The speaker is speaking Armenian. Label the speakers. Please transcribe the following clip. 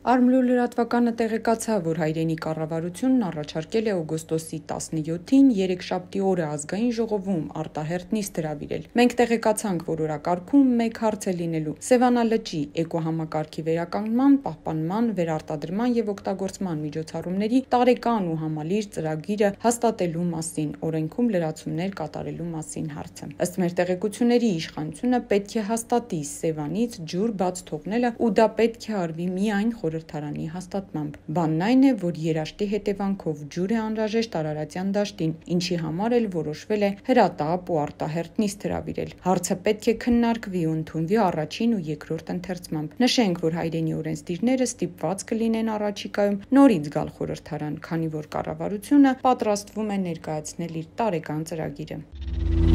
Speaker 1: Արմլու լրատվականը տեղեկացավ, որ հայրենի կառավարությունն առաջարկել է օգոստոսի 17-ին երեքշաբթի օրը ազգային ժողովում արտահերթ նիստ հրավիրել։ Մենք տեղեկացանք, որ օրակարգում մեկ հարց է լինելու Սևանա լճի էկոհամակարգի վերականգնման, պահպանման, վերարտադրման եւ օգտագործման միջոցառումների տարեկան ու համալիր ծրագիրը հաստատելու մասին, օրենքում լրացումներ կատարելու մասին հարցը։ Ըստ մեր տեղեկությունների, իշխանությունը պետք է հաստատի Սևանից ջուր բաց թողնելը ու դա պետք է արվի միայն խորհրդարանի հաստատմամբ։ Բանն այն է, որ երաշտի հետևանքով ջուր է անհրաժեշտ Արարատյան դաշտին, ինչի համար էլ որոշվել է հրատապ ու արտահերթ նիստ հրավիրել։ Հարցը պետք է քննարկվի ու ընդունվի առաջին ու երկրորդ ընթերցմամբ։ Նշենք, որ հայրենի օրենսդիրները ստիպված կլինեն առաջիկայում նորից գալ խորհրդարան, քանի որ կառավարությունը պատրաստվում է ներկայացնել իր տարեկան ծրագիրը։